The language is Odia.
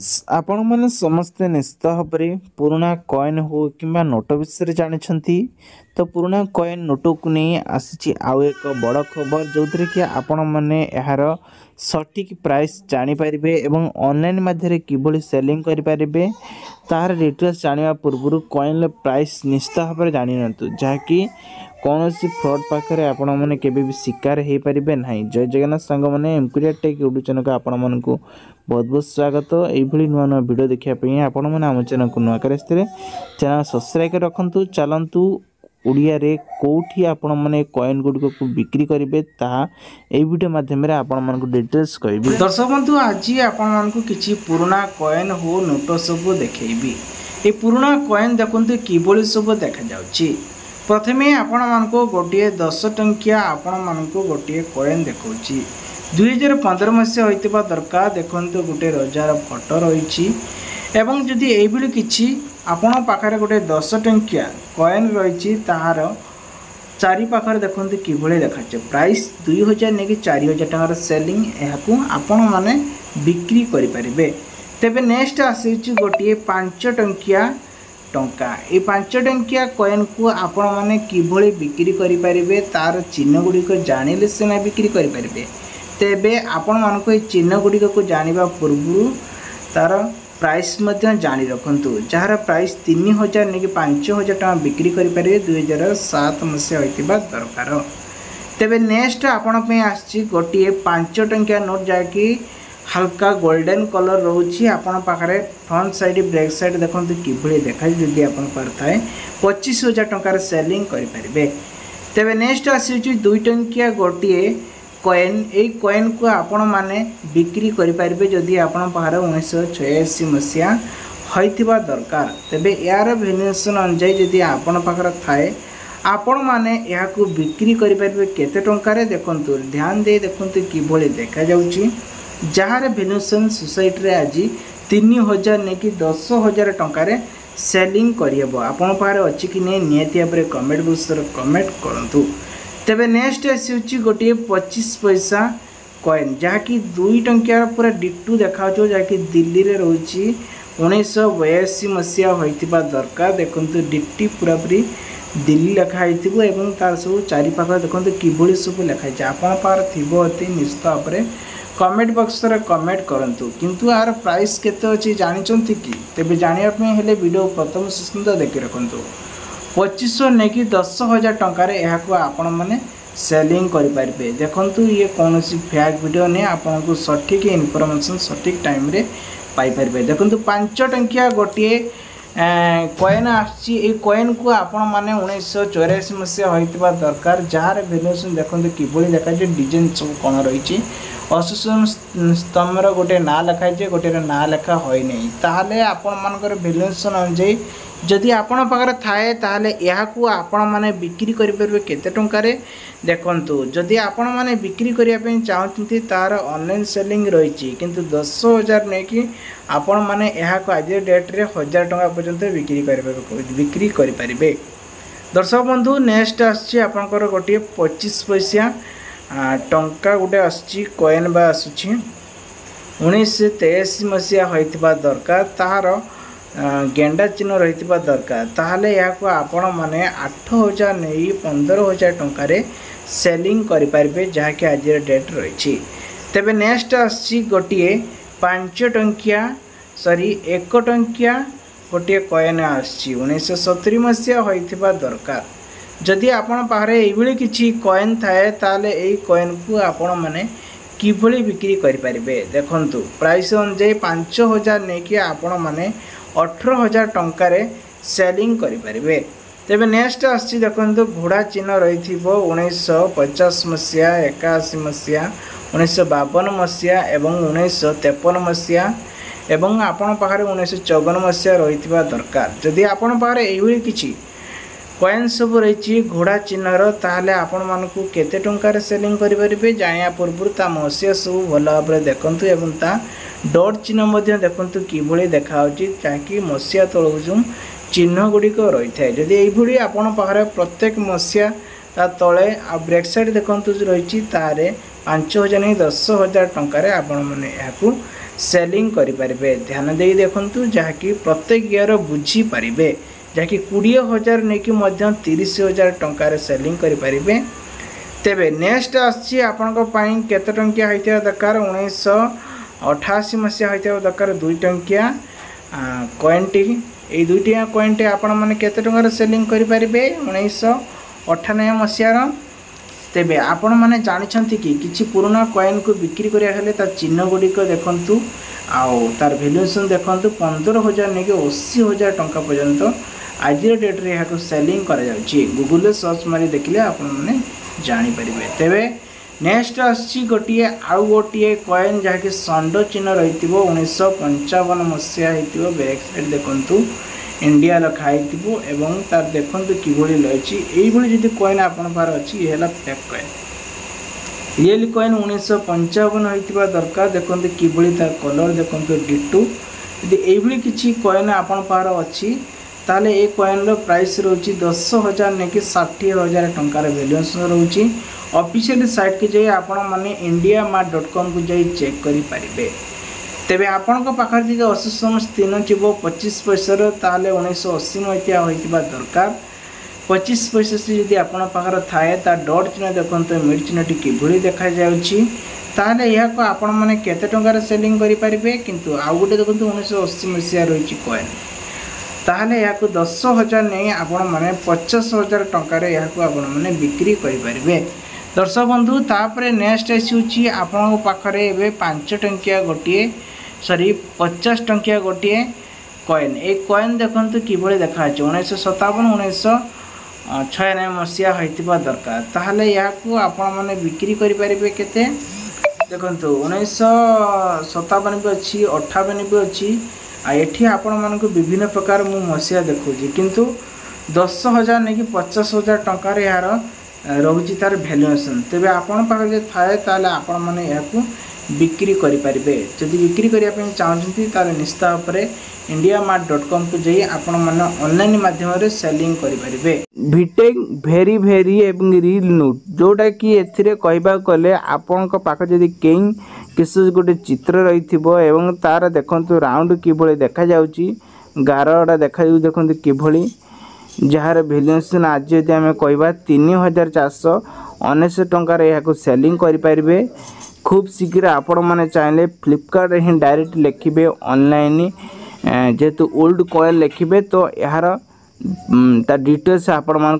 ଫ୍ରେଣ୍ଡସ୍, ଆପଣମାନେ ସମସ୍ତେ ନିଶ୍ଚିତ ଭାବରେ ପୁରୁଣା କଏନ୍ ହଉ କିମ୍ବା ନୋଟ ବିଷୟରେ ଜାଣିଛନ୍ତି। ତ ପୁରୁଣା କଏନ୍ ନୋଟକୁ ନେଇ ଆସିଛି ଆଉ ଏକ ବଡ଼ ଖବର, ଯେଉଁଥିରେ କି ଆପଣମାନେ ଏହାର ସଠିକ୍ ପ୍ରାଇସ୍ ଜାଣିପାରିବେ ଏବଂ ଅନଲାଇନ୍ ମାଧ୍ୟମରେ କିଭଳି ସେଲିଂ କରିପାରିବେ ତାହାର ଡିଟେଲ୍ସ ଜାଣିବା ପୂର୍ବରୁ କଏନ୍ର ପ୍ରାଇସ୍ ନିଶ୍ଚିତ ଭାବରେ ଜାଣିନିଅନ୍ତୁ, ଯାହାକି କୌଣସି ଫ୍ରଡ଼୍ ପାଖରେ ଆପଣମାନେ କେବେ ବି ଶିକାର ହେଇପାରିବେ ନାହିଁ। ଜୟ ଜଗନ୍ନାଥ ସାଙ୍ଗମାନେ, ଏମ୍କୁରିଆ ଟେକ୍ ୟୁଟ୍ୟୁବ୍ ଚ୍ୟାନେଲକୁ ଆପଣମାନଙ୍କୁ ବହୁତ ବହୁତ ସ୍ୱାଗତ। ଏଇଭଳି ନୂଆ ନୂଆ ଭିଡ଼ିଓ ଦେଖିବା ପାଇଁ ଆପଣମାନେ ଆମ ଚ୍ୟାନେଲକୁ ନୂଆ କରି ଆସିଥିଲେ ଚ୍ୟାନେଲ୍ ସବସ୍କ୍ରାଇବ୍ କରି ରଖନ୍ତୁ। ଚାଲନ୍ତୁ, ଓଡ଼ିଆରେ କେଉଁଠି ଆପଣମାନେ କଏନ୍ ଗୁଡ଼ିକକୁ ବିକ୍ରି କରିବେ ତାହା ଏଇ ଭିଡ଼ିଓ ମାଧ୍ୟମରେ ଆପଣମାନଙ୍କୁ ଡିଟେଲ୍ସ କହିବି। ଦର୍ଶକ ବନ୍ଧୁ, ଆଜି ଆପଣମାନଙ୍କୁ କିଛି ପୁରୁଣା କଏନ୍ ହଉ ନୋଟ ସବୁ ଦେଖେଇବି। ଏ ପୁରୁଣା କଏନ୍ ଦେଖନ୍ତୁ କିଭଳି ସବୁ ଦେଖାଯାଉଛି। ପ୍ରଥମେ ଆପଣମାନଙ୍କୁ ଗୋଟିଏ 10 ଟଙ୍କିଆ ଆପଣମାନଙ୍କୁ ଗୋଟିଏ କଏନ୍ ଦେଖାଉଛି। 2015 ମସିହା ହୋଇଥିବା ଦରକାର। ଦେଖନ୍ତୁ, ଗୋଟେ ରଜାର ଫଟୋ ରହିଛି ଏବଂ ଯଦି ଏଇଭଳି କିଛି ଆପଣଙ୍କ ପାଖରେ ଗୋଟେ 10 ଟଙ୍କିଆ କଏନ୍ ରହିଛି, ତାହାର ଚାରିପାଖରେ ଦେଖନ୍ତୁ କିଭଳି ଦେଖାଯାଉଛି। ପ୍ରାଇସ୍ 2000 ନେଇକି 4000 ଟଙ୍କାର ସେଲିଂ ଏହାକୁ ଆପଣମାନେ ବିକ୍ରି କରିପାରିବେ। ତେବେ ନେକ୍ସଟ ଆସିଛି ଗୋଟିଏ 5 ଟଙ୍କିଆ ଟଙ୍କା। ଏଇ 5 ଟଙ୍କିଆ କଏନ୍କୁ ଆପଣମାନେ କିଭଳି ବିକ୍ରି କରିପାରିବେ, ତାର ଚିହ୍ନ ଗୁଡ଼ିକ ଜାଣିଲେ ସିନା ବିକ୍ରି କରିପାରିବେ। ତେବେ ଆପଣମାନଙ୍କୁ ଏଇ ଚିହ୍ନ ଗୁଡ଼ିକକୁ ଜାଣିବା ପୂର୍ବରୁ ତାର ପ୍ରାଇସ୍ ମଧ୍ୟ ଜାଣି ରଖନ୍ତୁ, ଯାହାର ପ୍ରାଇସ୍ 3000 ନେଇକି 5000 ଟଙ୍କା ବିକ୍ରି କରିପାରିବେ। 2007 ମସିହା ହୋଇଥିବା ଦରକାର। ତେବେ ନେକ୍ସଟ ଆପଣଙ୍କ ପାଇଁ ଆସିଛି ଗୋଟିଏ 5 ଟଙ୍କିଆ ନୋଟ୍, ଯାହାକି ହାଲକା ଗୋଲ୍ଡେନ୍ କଲର୍ ରହୁଛି। ଆପଣଙ୍କ ପାଖରେ ଫ୍ରଣ୍ଟ ସାଇଡ଼୍, ବ୍ୟାକ୍ ସାଇଡ଼୍ ଦେଖନ୍ତୁ କିଭଳି ଦେଖାଯାଉଛି। ଯଦି ଆପଣଙ୍କ ପାଖରେ ଥାଏ, 25,000 ଟଙ୍କାରେ ସେଲିଂ କରିପାରିବେ। ତେବେ ନେକ୍ସଟ ଆସୁଛି 2 ଟଙ୍କିଆ ଗୋଟିଏ କଏନ୍। ଏଇ କଏନ୍କୁ ଆପଣମାନେ ବିକ୍ରି କରିପାରିବେ ଯଦି ଆପଣଙ୍କ ପାଖରେ 1986 ମସିହା ହୋଇଥିବା ଦରକାର। ତେବେ ଏହାର ଭେରିଏସନ୍ ଅନୁଯାୟୀ ଯଦି ଆପଣଙ୍କ ପାଖରେ ଥାଏ, ଆପଣମାନେ ଏହାକୁ ବିକ୍ରି କରିପାରିବେ। କେତେ ଟଙ୍କାରେ? ଦେଖନ୍ତୁ, ଧ୍ୟାନ ଦେଇ ଦେଖନ୍ତୁ କିଭଳି ଦେଖାଯାଉଛି, ଯାହାର ଭେନ୍ୟୁସନ୍ ସୋସାଇଟିରେ ଆଜି 3000 ନେଇକି 10,000 ଟଙ୍କାରେ ସେଲିଂ କରିହେବ। ଆପଣଙ୍କ ପାଖରେ ଅଛି କି ନାହିଁ, ନିହାତି ଭାବରେ କମେଣ୍ଟ ବକ୍ସରେ କମେଣ୍ଟ କରନ୍ତୁ। ତେବେ ନେକ୍ସଟ ଆସୁଛି ଗୋଟିଏ 25 ପଇସା କଏନ୍, ଯାହାକି 2 ଟଙ୍କିଆର ପୁରା ଡିଟୋ ଦେଖାଯାଉଥିବ, ଯାହାକି ଦିଲ୍ଲୀରେ ରହୁଛି। 1982 ମସିହା ହୋଇଥିବା ଦରକାର। ଦେଖନ୍ତୁ, ଡିଟି ପୁରାପୁରି ଦିଲ୍ଲୀ ଲେଖା ହେଇଥିବ ଏବଂ ତାର ସବୁ ଚାରିପାଖରେ ଦେଖନ୍ତୁ କିଭଳି ସବୁ ଲେଖା ହେଇଛି। ଆପଣଙ୍କ ପାଖରେ ଥିବ ଅତି ନିଶ୍ଚିତ ଭାବରେ କମେଣ୍ଟ ବକ୍ସରେ କମେଣ୍ଟ କରନ୍ତୁ। କିନ୍ତୁ ଏହାର ପ୍ରାଇସ୍ କେତେ ଅଛି ଜାଣିଛନ୍ତି କି? ତେବେ ଜାଣିବା ପାଇଁ ହେଲେ ଭିଡ଼ିଓ ପ୍ରଥମ ଶେଷ ଦେଖି ରଖନ୍ତୁ। 2500 ନେଇକି 10,000 ଟଙ୍କାରେ ଏହାକୁ ଆପଣମାନେ ସେଲିଂ କରିପାରିବେ। ଦେଖନ୍ତୁ, ଇଏ କୌଣସି ଫେକ୍ ଭିଡ଼ିଓ ନୁହେଁ, ଆପଣଙ୍କୁ ସଠିକ୍ ଇନଫର୍ମେସନ୍ ସଠିକ୍ ଟାଇମ୍ରେ ପାଇପାରିବେ। ଦେଖନ୍ତୁ, 5 ଟଙ୍କିଆ ଗୋଟିଏ କଏନ୍ ଆସୁଛି। ଏଇ କଏନ୍କୁ ଆପଣମାନେ 1984 ମସିହା ହୋଇଥିବା ଦରକାର, ଯାହାର ଭେରିଏସନ୍ ଦେଖନ୍ତୁ କିଭଳି ଦେଖାଯାଉଛି, ଡିଜାଇନ୍ ସବୁ କ'ଣ ରହିଛି। ଅଶୋକ ସ୍ତମ୍ଭର ଗୋଟିଏ ନାଁ ଲେଖା ହେଇଛି, ଗୋଟିଏର ନାଁ ଲେଖା ହୋଇନାହିଁ। ତାହେଲେ ଆପଣମାନଙ୍କର ଭେରିଏସନ୍ ଅନୁଯାୟୀ ଯଦି ଆପଣଙ୍କ ପାଖରେ ଥାଏ, ତାହେଲେ ଏହାକୁ ଆପଣମାନେ ବିକ୍ରି କରିପାରିବେ। କେତେ ଟଙ୍କାରେ? ଦେଖନ୍ତୁ, ଯଦି ଆପଣମାନେ ବିକ୍ରି କରିବା ପାଇଁ ଚାହୁଁଛନ୍ତି, ତାହାର ଅନଲାଇନ୍ ସେଲିଂ ରହିଛି, କିନ୍ତୁ 10,000 ନେଇକି ଆପଣମାନେ ଏହାକୁ ଆଜି ଡେଟ୍ରେ 1000 ଟଙ୍କା ପର୍ଯ୍ୟନ୍ତ ବିକ୍ରି କରିପାରିବେ। ଦର୍ଶକ ବନ୍ଧୁ, ନେକ୍ସଟ ଆସୁଛି ଆପଣଙ୍କର ଗୋଟିଏ 25 ପଇସା ଟଙ୍କା ଗୋଟେ ଆସୁଛି, କଏନ୍ ବା ଆସୁଛି। 1983 ମସିହା ହୋଇଥିବା ଦରକାର, ତାହାର ଗେଣ୍ଡା ଚିହ୍ନ ରହିଥିବା ଦରକାର। ତାହେଲେ ଏହାକୁ ଆପଣମାନେ 8000 ନେଇ 15,000 ଟଙ୍କାରେ ସେଲିଂ କରିପାରିବେ, ଯାହାକି ଆଜିର ଡେଟ୍ ରହିଛି। ତେବେ ନେକ୍ସଟ ଆସୁଛି ଗୋଟିଏ 5 ଟଙ୍କିଆ, ସରି, 1 ଟଙ୍କିଆ ଗୋଟିଏ କଏନ୍ ଆସୁଛି। 1970 ମସିହା ହୋଇଥିବା ଦରକାର। ଯଦି ଆପଣ ପାଖରେ ଏଇଭଳି କିଛି କଏନ୍ ଥାଏ, ତାହେଲେ ଏଇ କଏନ୍କୁ ଆପଣମାନେ କିଭଳି ବିକ୍ରି କରିପାରିବେ? ଦେଖନ୍ତୁ, ପ୍ରାଇସ୍ ଅନୁଯାୟୀ 5000 ନେଇକି ଆପଣମାନେ 18,000 ଟଙ୍କାରେ ସେଲିଂ କରିପାରିବେ। ତେବେ ନେକ୍ସଟ ଆସୁଛି, ଦେଖନ୍ତୁ, ଘୋଡ଼ା ଚିହ୍ନ ରହିଥିବ, 1950 ମସିହା, 81 ମସିହା, 1952 ମସିହା ଏବଂ 1953 ମସିହା ଏବଂ ଆପଣଙ୍କ ପାଖରେ 1954 ମସିହା ରହିଥିବା ଦରକାର। ଯଦି ଆପଣଙ୍କ ପାଖରେ ଏଇଭଳି କିଛି କଏନ୍ ସବୁ ରହିଛି ଘୋଡ଼ା ଚିହ୍ନର, ତାହେଲେ ଆପଣମାନଙ୍କୁ କେତେ ଟଙ୍କାରେ ସେଲିଂ କରିପାରିବେ ଜାଣିବା ପୂର୍ବରୁ ତା ମସିହା ସବୁ ଭଲ ଭାବରେ ଦେଖନ୍ତୁ ଏବଂ ତା ଡଟ୍ ଚିହ୍ନ ମଧ୍ୟ ଦେଖନ୍ତୁ କିଭଳି ଦେଖାହେଉଛି, ଯାହାକି ମସିହା ତଳକୁ ଯେଉଁ ଚିହ୍ନ ଗୁଡ଼ିକ ରହିଥାଏ। ଯଦି ଏଇଭଳି ଆପଣଙ୍କ ପାଖରେ ପ୍ରତ୍ୟେକ ମସିହା ତା ତଳେ ଆଉ ବ୍ୟାକ୍ ସାଇଡ଼୍ ଦେଖନ୍ତୁ ରହିଛି, ତାହେଲେ 5000 ନେଇ 10,000 ଟଙ୍କାରେ ଆପଣମାନେ ଏହାକୁ ସେଲିଂ କରିପାରିବେ। ଧ୍ୟାନ ଦେଇ ଦେଖନ୍ତୁ, ଯାହାକି ପ୍ରତ୍ୟେକ ଇୟର ବୁଝିପାରିବେ, ଯାହାକି 20,000 ନେଇକି ମଧ୍ୟ 30,000 ଟଙ୍କାରେ ସେଲିଂ କରିପାରିବେ। ତେବେ ନେକ୍ସଟ ଆସୁଛି ଆପଣଙ୍କ ପାଇଁ କେତେ ଟଙ୍କିଆ ହୋଇଥିବା ଦରକାର? 1988 ମସିହା ହୋଇଥିବା ଦରକାର 2 ଟଙ୍କିଆ କଏନ୍ଟି। ଏଇ 2 ଟଙ୍କିଆ କଏନ୍ଟି ଆପଣମାନେ କେତେ ଟଙ୍କାରେ ସେଲିଂ କରିପାରିବେ 1998 ମସିହାର? ତେବେ ଆପଣମାନେ ଜାଣିଛନ୍ତି କି କିଛି ପୁରୁଣା କଏନ୍କୁ ବିକ୍ରି କରିବା ହେଲେ ତା ଚିହ୍ନ ଗୁଡ଼ିକ ଦେଖନ୍ତୁ ଆଉ ତାର ଭ୍ୟାଲୁଏସନ୍ ଦେଖନ୍ତୁ। 15,000 ନେଇକି 80,000 ଟଙ୍କା ପର୍ଯ୍ୟନ୍ତ ଆଜିର ଡେଟ୍ରେ ଏହାକୁ ସେଲିଂ କରାଯାଉଛି। ଗୁଗୁଲରେ ସର୍ଚ୍ଚ ମାରି ଦେଖିଲେ ଆପଣମାନେ ଜାଣିପାରିବେ। ତେବେ ନେକ୍ସଟ ଆସୁଛି ଗୋଟିଏ ଆଉ ଗୋଟିଏ କଏନ୍, ଯାହାକି ଷଣ୍ଢ ଚିହ୍ନ ରହିଥିବ, 1955 ମସିହା ହେଇଥିବ। ବ୍ୟାକ୍ ସାଇଡ଼୍ ଦେଖନ୍ତୁ, ଇଣ୍ଡିଆ ଲେଖା ହେଇଥିବ ଏବଂ ତାର ଦେଖନ୍ତୁ କିଭଳି ରହିଛି। ଏଇଭଳି ଯଦି କଏନ୍ ଆପଣଙ୍କ ପାଖରେ ଅଛି, ଇଏ ହେଲା ଫେକ୍ କଏନ୍। ରିଏଲ୍ କଏନ୍ 1955 ହୋଇଥିବା ଦରକାର। ଦେଖନ୍ତୁ କିଭଳି ତାର କଲର୍ ଦେଖନ୍ତୁ, ଡିଟୁ। ଯଦି ଏଇଭଳି କିଛି କଏନ୍ ଆପଣଙ୍କ ପାଖରେ ଅଛି, ତାହେଲେ ଏ କଏନ୍ର ପ୍ରାଇସ୍ ରହୁଛି 10,000 ନେଇକି 60,000 ଟଙ୍କାର ଭ୍ୟାଲୁଏସନ୍ ରହୁଛି। ଅଫିସିଆଲି ସାଇଟ୍କି ଯାଇ ଆପଣମାନେ ଇଣ୍ଡିଆ ମାର୍ଟ ଡଟ୍ କମ୍କୁ ଯାଇ ଚେକ୍ କରିପାରିବେ। ତେବେ ଆପଣଙ୍କ ପାଖରେ ଯଦି 80 ତିନ ଥିବ 25 ପଇସାର, ତାହେଲେ 1980 ମସିହା ହୋଇଥିବା ଦରକାର। 25 ପଇସା ଯଦି ଆପଣଙ୍କ ପାଖରେ ଥାଏ, ତା ଡଟ୍ ଚିହ୍ନ ଦେଖନ୍ତୁ, ମିଡ୍ ଚିହ୍ନଟି କିଭଳି ଦେଖାଯାଉଛି, ତାହେଲେ ଏହାକୁ ଆପଣମାନେ କେତେ ଟଙ୍କାରେ ସେଲିଂ କରିପାରିବେ? କିନ୍ତୁ ଆଉ ଗୋଟେ ଦେଖନ୍ତୁ, 1980 ମସିହା ରହିଛି କଏନ୍, ତାହେଲେ ଏହାକୁ 10,000 ନେଇ ଆପଣମାନେ 50,000 ଟଙ୍କାରେ ଏହାକୁ ଆପଣମାନେ ବିକ୍ରି କରିପାରିବେ। ଦର୍ଶକ ବନ୍ଧୁ, ତାପରେ ନେକ୍ସଟ ଆସୁଛି ଆପଣଙ୍କ ପାଖରେ ଏବେ 5 ଟଙ୍କିଆ ଗୋଟିଏ, ସରି, 50 ଟଙ୍କିଆ ଗୋଟିଏ କଏନ୍। ଏଇ କଏନ୍ ଦେଖନ୍ତୁ କିଭଳି ଦେଖାଯାଉଛି। 1957, 1996 ମସିହା ହୋଇଥିବା ଦରକାର। ତାହେଲେ ଏହାକୁ ଆପଣମାନେ ବିକ୍ରି କରିପାରିବେ କେତେ? ଦେଖନ୍ତୁ, 1957 ବି ଅଛି, 58 ବି ଅଛି। ଆଉ ଏଠି ଆପଣମାନଙ୍କୁ ବିଭିନ୍ନ ପ୍ରକାର ମୁଁ ମସିହା ଦେଖାଉଛି, କିନ୍ତୁ 10,000 ନେଇକି 50,000 ଟଙ୍କାରେ ଏହାର ରହୁଛି ତାର ଭ୍ୟାଲୁଏସନ୍। ତେବେ ଆପଣଙ୍କ ପାଖରେ ଯଦି ଥାଏ, ତାହେଲେ ଆପଣମାନେ ଏହାକୁ ବିକ୍ରି କରିପାରିବେ। ଯଦି ବିକ୍ରି କରିବା ପାଇଁ ଚାହୁଁଛନ୍ତି, ତାହେଲେ ନିଶ୍ଚିତ ଭାବରେ ଇଣ୍ଡିଆ ମାର୍ଟ ଡଟ୍ କମ୍କୁ ଯାଇ ଆପଣମାନେ ଅନଲାଇନ୍ ମାଧ୍ୟମରେ ସେଲିଂ କରିପାରିବେ। ଭିଟେକ୍ ଭେରି ଭେରି ଏବଂ ରିଲ୍ ନୋଟ୍, ଯେଉଁଟାକି ଏଥିରେ କହିବାକୁ ଗଲେ ଆପଣଙ୍କ ପାଖରେ ଯଦି କେଉଁ କିଛି ଗୋଟେ ଚିତ୍ର ରହିଥିବ ଏବଂ ତାର ଦେଖନ୍ତୁ ରାଉଣ୍ଡ କିଭଳି ଦେଖାଯାଉଛି, ଗାରଟା ଦେଖାଯାଉଛି ଦେଖନ୍ତୁ କିଭଳି, ଯାହାର ଭ୍ୟାଲୁଏସନ୍ ଆଜି ଯଦି ଆମେ କହିବା 3,499 ଟଙ୍କାରେ ଏହାକୁ ସେଲିଂ କରିପାରିବେ। ଖୁବ୍ ଶୀଘ୍ର ଆପଣମାନେ ଚାହିଁଲେ ଫ୍ଲିପକାର୍ଟରେ ହିଁ ଡାଇରେକ୍ଟ ଲେଖିବେ, ଅନଲାଇନ୍ ଯେହେତୁ ଓଲ୍ଡ କଏନ୍ ଲେଖିବେ, ତ ଏହାର ତା ଡିଟେଲ୍ସ ଆପଣମାନଙ୍କୁ